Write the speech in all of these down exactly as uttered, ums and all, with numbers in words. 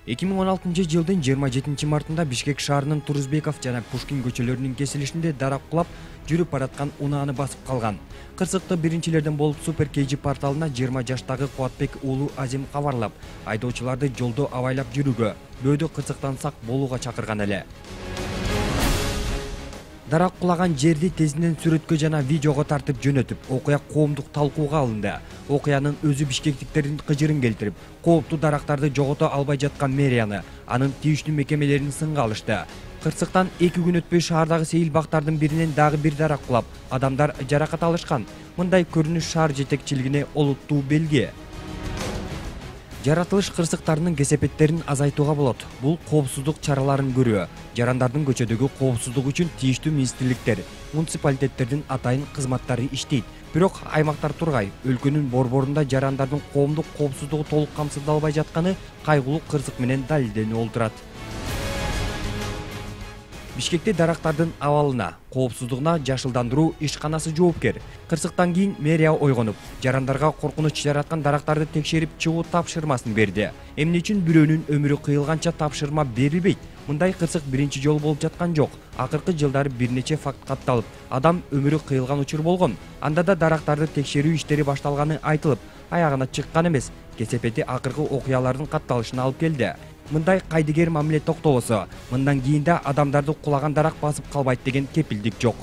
эки миң он алтынчы жылдын жыйырма жетинчи мартында Бишкек шаарынын Турузбеков жана Пушкин көчөлөрүнүн кесилишинде дарак кулап, жүрүп бараткан унааны басып калган. Кырсыкты биринчилерден болуп Супер Кей Жи порталына жыйырма жаштагы Кубатбек уулу Азим кабарлап, айдоочуларды жолдо абайлап жүрүүгө, бөөдө кырсыктан сак болууга чакырган эле. Дарак кулаган жерди тезинен сүрөткө жана видеого тартып жөнөтүп, окуя коомдук талкууга алынды. Окуянын өзү бишкектиктердин кыжырын келтирип, кооптуу дарактарды жогото албай жаткан мэрияны, анын тийиштүү мекемелерин сынга алышты. Кырсыктан эки күн өтпөй шаардагы сейил бактардын биринен дагы бир дарак кулап, адамдар жаракат алышкан. Мындай көрүнүш шаар жетекчилигине олуттуу белги. Жаратылыш кырсыктарынын кесепеттерин азайтууга болот. Бул коопсуздук чараларын көрүү. Жарандардын көчөдөгү коопсуздугу үчүн тийиштүү министрликтер, муниципалитеттердин атайын кызматтары иштейт. Бирок аймактар тургай, өлкөнүн борборунда жарандардын коомдук коопсуздугу толук камсыздалбай жатканы кайгылуу кырсык менен далилденип олтурат. Бишкекте дарактардын абалына, коопсуздугуна жашылдандыруу ишканасы жоопкер. Кырсыктан кийин мэрия ойгонуп, жарандарга коркунуч жараткан дарактарды текшерип чыгуу тапшырмасын берди. Эмне үчүн бирөөнүн өмүрү кыйылганча тапшырма берилбейт? Мындай кырсык биринчи жолу болуп жаткан жок. Акыркы жылдары бир нече факт катталып, адам өмүрү кыйылган учур болгон. Анда да дарактарды текшерүү иштери башталганы айтылып, аягына чыккан эмес. Кесепети акыркы окуялардын катталышына алып келди. Мындай кайдыгер мамиле токтобосо, мындан кийин да адамдарды кулаган дарак басып калбайт деген кепилдик жок.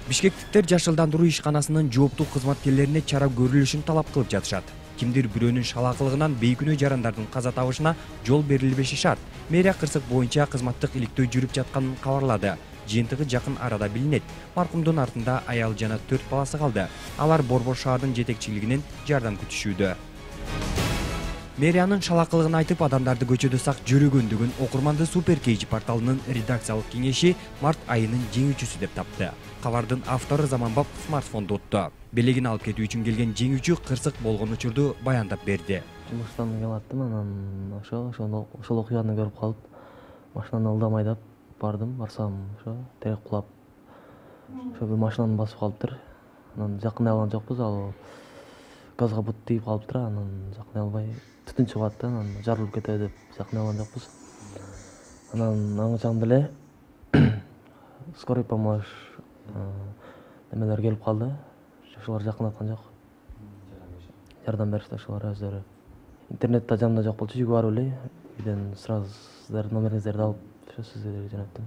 Бишкектиктер жашылдандыруу ишканасынын жооптуу кызматкерлерине чара көрүлүшүн талап кылып жатышат. Кимдир бирөөнүн шалаакылыгынан бейкүнөө жарандардын каза табышына жол берилбеши шарт. Мэрия кырсык боюнча кызматтык иликтөө жүрүп жатканын кабарлады. Жыйынтыгы жакын арада билинет. Маркумдун артында аял жана төрт баласы калды. Алар Борбор шаардын жетекчилигинен жардам күтүшүүдө. Мэриянын шалаакылыгын айтып, адамдарды көчөдө сак жүрүгөндүгүн окурманды Супер Кей Жи порталынын редакциялык кеңеши март айынын жеңүүчүсү деп тапты. Кабардын автору Заманбап смартфонду утту. Белегин алып кетүү үчүн келген жеңүүчү кырсык болгон учурду баяндап берди. Жумуштан келаттым, анан ошо ошону ошол окуяны көрүп калып, машинаны ылдам айдап бардым, барсам ошо терек кулап, ошо бир машинаны басып калыптыр. Анан жакындай алган жокпуз, ал газга бут тийип калыптыр, анан жакындай албай түтүн чыгып атты, анан жарылып кетеби деп жакындай алган жокпуз. Анан аңы чамда эле скорый помощь немелер келип калды. Ошолор жакындаткан жок. Жардам беришти ошолор өздөрү. Интернетте жанымда жок болчу, жүгүп барып эле үйдөн сразу сиздердин номериңиздерди алып, ошо сиздерге жөнөттүм.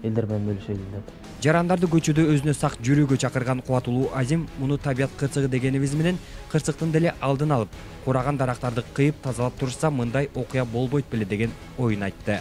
Элдер менен бөлүшөлү деп. Жарандарды көчөдө өзүнө сак жүрүүгө чакырган Кубатулуу Азим муну табият кырсыгы дегенибиз менен кырсыктын деле алдын алып, кураган дарактарды кыйып тазалап турушса, мындай окуя болбойт беле деген оюн айтты.